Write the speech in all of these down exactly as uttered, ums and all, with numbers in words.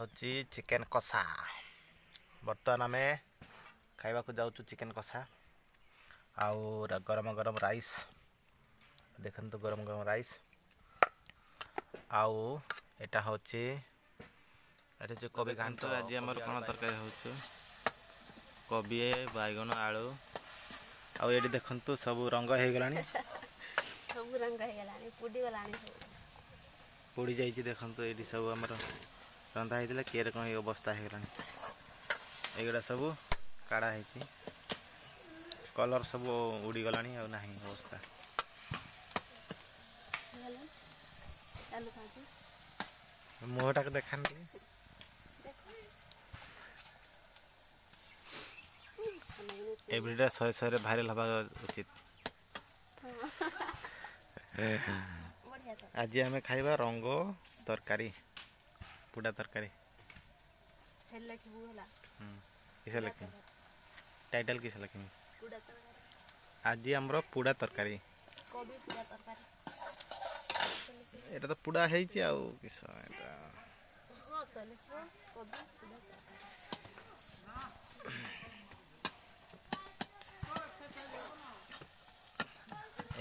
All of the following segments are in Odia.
ହେଉଛି ଚିକେନ୍ କଷା। ବର୍ତ୍ତମାନ ଆମେ ଖାଇବାକୁ ଯାଉଛୁ ଚିକେନ୍ କଷା ଆଉ ଗରମ ଗରମ ରାଇସ୍। ଦେଖନ୍ତୁ, ଗରମ ଗରମ ରାଇସ୍। ଆଉ ଏଇଟା ହେଉଛି, ଏଠି ଯେଉଁ କୋବି ଘାଣ୍ଟ। ଆଜି ଆମର କ'ଣ ତରକାରୀ ହେଉଛି? କୋବି, ବାଇଗଣ, ଆଳୁ। ଆଉ ଏଇଠି ଦେଖନ୍ତୁ, ସବୁ ରଙ୍ଗ ହେଇଗଲାଣି। ସବୁ ରଙ୍ଗ ହେଇଗଲାଣି, ପୋଡ଼ିଗଲାଣି ସବୁ। ପୋଡ଼ି ଯାଇଛି। ଦେଖନ୍ତୁ, ଏଇଠି ସବୁ ଆମର ରନ୍ଧା ହେଇଥିଲା, କିଏରେ କ'ଣ ଏଇ ଅବସ୍ଥା ହେଇଗଲାଣି। ଏଗୁଡ଼ା ସବୁ କାଢ଼ା ହେଇଛି, କଲର୍ ସବୁ ଉଡ଼ିଗଲାଣି, ଆଉ ନାହିଁ ଅବସ୍ଥା। ମୁହଁଟାକୁ ଦେଖାନି। ଏ ଭିଡ଼ିଓଟା ଶହେ ଶହେରେ ଭାଇରାଲ ହେବା ଉଚିତ। ଆଜି ଆମେ ଖାଇବା ରଙ୍ଗ ତରକାରୀ, ପୁଡ଼ା ତରକାରୀ। କିସ ଲେଖିବି ଟାଇଟଲ? କିସ ଲେଖିବି? ଆଜି ଆମର ପୁଡ଼ା ତରକାରୀ। ଏଇଟା ତ ପୁଡ଼ା ହେଇଛି, ଆଉ କିସ ଏଇଟା?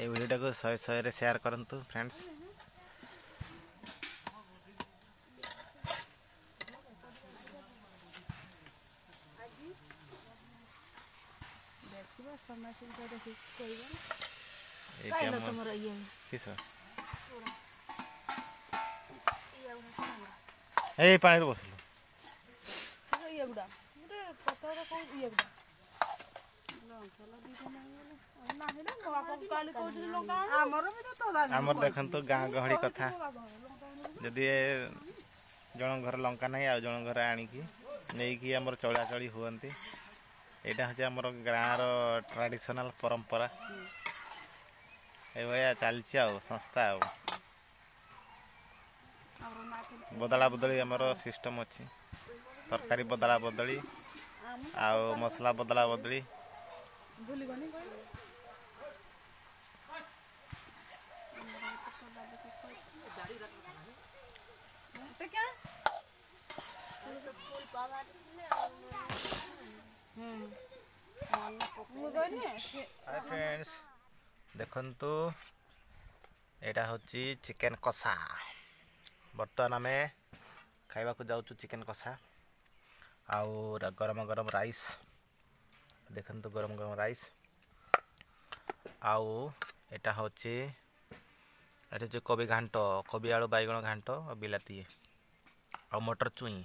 ଏଇ ଭିଡ଼ିଓଟାକୁ ଶହେ ଶହେରେ ସେୟାର କରନ୍ତୁ ଫ୍ରେଣ୍ଡସ୍। ଦେଖିବ, ସମସ୍ତେ ଦେଖିକି କହିବ। ତମର ଇଏ କିସ? ଏଇ ପାଣିରେ ବସିଲୁ। ଇଏ ଗୁଡ଼ା ଗୋଟେ ପତ୍ର କୋଉ ଇଏ ଗୁଡ଼ା? ଆମର ଦେଖନ୍ତୁ, ଗାଁ ଗହଳି କଥା, ଯଦି ଜଣଙ୍କ ଘରେ ଲଙ୍କା ନାହିଁ, ଆଉ ଜଣଙ୍କ ଘରେ ଆଣିକି ନେଇକି ଆମର ଚଳାଚଳି ହୁଅନ୍ତି। ଏଇଟା ହେଉଛି ଆମର ଗାଁର ଟ୍ରାଡ଼ିସନାଲ ପରମ୍ପରା। ଏଇଭଳିଆ ଚାଲିଛି ଆଉ ସଂସ୍ଥା, ଆଉ ବଦଳା ବଦଳି ଆମର ସିଷ୍ଟମ୍ ଅଛି। ତରକାରୀ ବଦଳା ବଦଳି ଆଉ ମସଲା ବଦଳା ବଦଳି। ଭୁଲିଗନି। ହାଏ ଫ୍ରେଣ୍ଡସ୍, ଦେଖନ୍ତୁ, ଏଇଟା ହେଉଛି ଚିକେନ୍ କଷା। ବର୍ତ୍ତମାନ ଆମେ ଖାଇବାକୁ ଯାଉଛୁ ଚିକେନ୍ କଷା ଆଉ ଗରମ ଗରମ ରାଇସ୍। ଦେଖନ୍ତୁ, ଗରମ ଗରମ ରାଇସ୍। ଆଉ ଏଇଟା ହେଉଛି, ଏଠି ଯେଉଁ କୋବି ଘାଣ୍ଟ, କୋବି ଆଳୁ ବାଇଗଣ ଘାଣ୍ଟ ଆଉ ବିଲାତି ଆଉ ମଟର ଛୁଇଁ।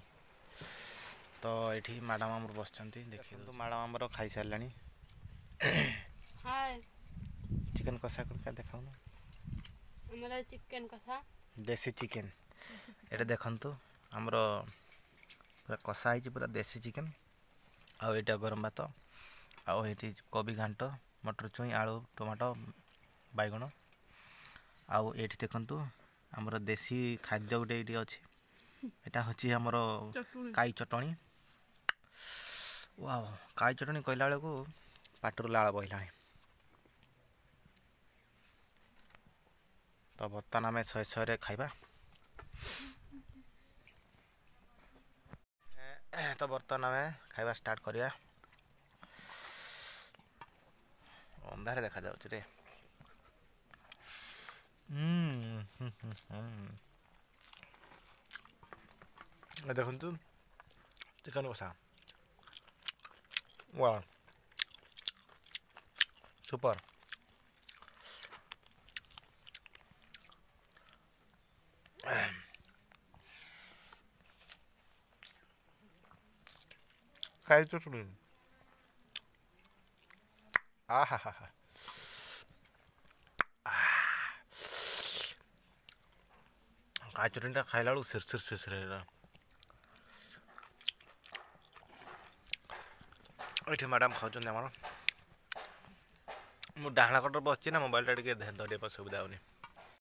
ତ ଏଠି ମ୍ୟାଡ଼ାମ୍ ଆମର ବସିଛନ୍ତି। ଦେଖନ୍ତୁ, ମ୍ୟାଡ଼ାମ୍ ଆମର ଖାଇସାରିଲେଣି ଚିକେନ୍ କଷା। କ'ଣ ଦେଖାଉନ? ଆମର ଚିକେନ୍ କଷା। ଦେଶୀ ଚିକେନ୍। ଏଇଟା ଦେଖନ୍ତୁ, ଆମର ପୁରା କଷା ହେଇଛି, ପୁରା ଦେଶୀ ଚିକେନ୍। ଆଉ ଏଇଟା ଗରମ ଭାତ, ଆଉ ଏଇଠି କୋବି ଘାଣ୍ଟ, ମଟର ଛୁଇଁ, ଆଳୁ, ଟମାଟୋ, ବାଇଗଣ। ଆଉ ଏଇଠି ଦେଖନ୍ତୁ, ଆମର ଦେଶୀ ଖାଦ୍ୟ ଗୋଟେ ଏଇଠି ଅଛି। ଏଇଟା ହେଉଛି ଆମର କାଇ ଚଟଣି। ୱାଓ, କାଇ ଚଟଣି କହିଲା ବେଳକୁ ପାଟିରୁ ଲାଳ ବହିଲାଣି। ତ ବର୍ତ୍ତମାନ ଆମେ ଶହେ ଶହେରେ ଖାଇବା। ତ ବର୍ତ୍ତମାନ ଆମେ ଖାଇବା ଷ୍ଟାର୍ଟ କରିବା। ଅନ୍ଧାରେ ଦେଖାଯାଉଛି ରେ। ଦେଖନ୍ତୁ, ଚିକେନ୍ କଷା, ୱା ସୁପର। ଖାଇଛୁ ଶୁଣି। ଆହା ହା ହା, କାଇ ଚଟଣିଟା ଖାଇଲା ବେଳକୁ ସିର୍ ସିର୍ ସିର୍ ହେଲା। ଏଇଠି ମ୍ୟାଡ଼ାମ୍ ଖାଉଛନ୍ତି ଆମର। ମୁଁ ଡାହାଣ କଟରେ ବସିଛି ନା, ମୋବାଇଲଟା ଟିକେ ଧରିବା ପାଇଁ ସୁବିଧା ହେଉନି।